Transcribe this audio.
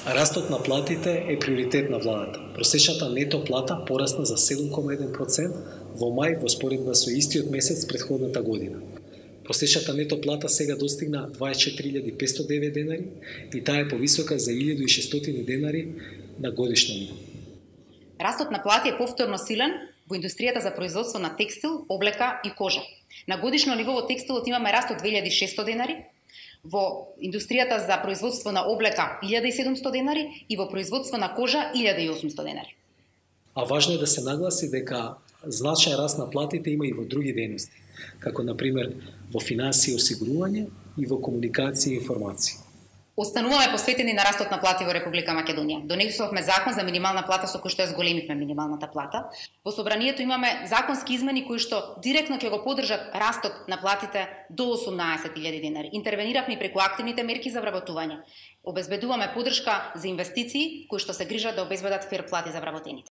Растот на платите е приоритет на владата. Просечната нето плата порасна за 7,1% во мај во споредба со истиот месец претходната година. Просечната нето плата сега достигна 24.509 денари и таа е повисока за 1.600 денари на годишно ниво. Растот на плати е повторно силен во индустријата за производство на текстил, облека и кожа. На годишно ниво во текстилот имаме раст од 2.600 денари, во индустријата за производство на облека 1.700 денари и во производство на кожа 1.800 денари. А важно е да се нагласи дека значаен раст на платите има и во други дејности, како на пример во финансии и осигурување и во комуникација и информации. Остануваме посветени на растот на плати во Република Македонија. Донесовме закон за минимална плата со кој што ја зголемивме минималната плата. Во собранието имаме законски измени кои што директно ќе го поддржат растот на платите до 18.000 денари. Интервениравме преку активните мерки за вработување. Обезбедуваме поддршка за инвестиции кои што се грижат да обезбедат фер плати за вработените.